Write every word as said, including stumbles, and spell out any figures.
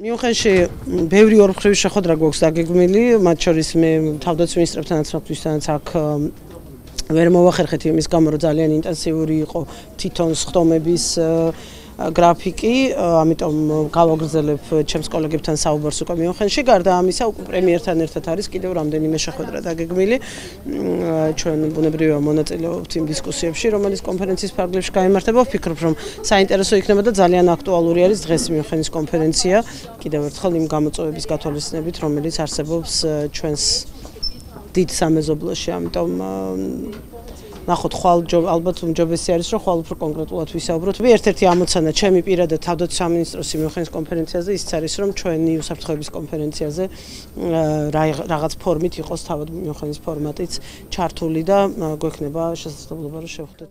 მიუნხენში ბევრი ორმხრივი შეხვედრა გვაქვს დაგეგმილი, მათ შორის მე თავდაცვის მინისტრებთანაც საფრთხისთანაც აქ ვერ მოვახერხეთ იმის გამო, რომ ძალიან ინტენსიური იყო თვითონ სხდომების გრაფიკი, ამიტომ გავაგრძელებ ჩემს კოლეგებთან საუბარს უკვე მიუნხენში. გარდა ამისა, უკვე პრემიერთან ერთად არის კიდევ რამდენიმე შეხვედრა დაგეგმილი. ჩვენ ბუნებრივია მონაწილეობთ იმ დისკუსიებში, რომელიც კონფერენციის ფარგლებში გაიმართება. ვფიქრობ, რომ საინტერესო იქნება და ძალიან აქტუალური არის დღეს მიუნხენის კონფერენცია. კიდევ ერთხელ იმ გამოწვევების გათვალისწინებით, რომელიც არსებობს ჩვენს დიდ სამეზობლოში, ამიტომ ნახოთ ხვალ ალბათ უმჯობესი არის რომ ხვალ უფრო კონკრეტულად ვისაუბროთ. ერთ-ერთი ამოცანა ჩემი პირადად თავდაცვის სამინისტროს მიუნხენის კონფერენციაზე ის არის რომ ჩვენი უსაფრთხოების კონფერენციაზე რაღაც ფორმით იყოს თავად მიუნხენის ფორმატიც ჩართული და გვექნება შესაძლებლობა რომ შევხვდეთ.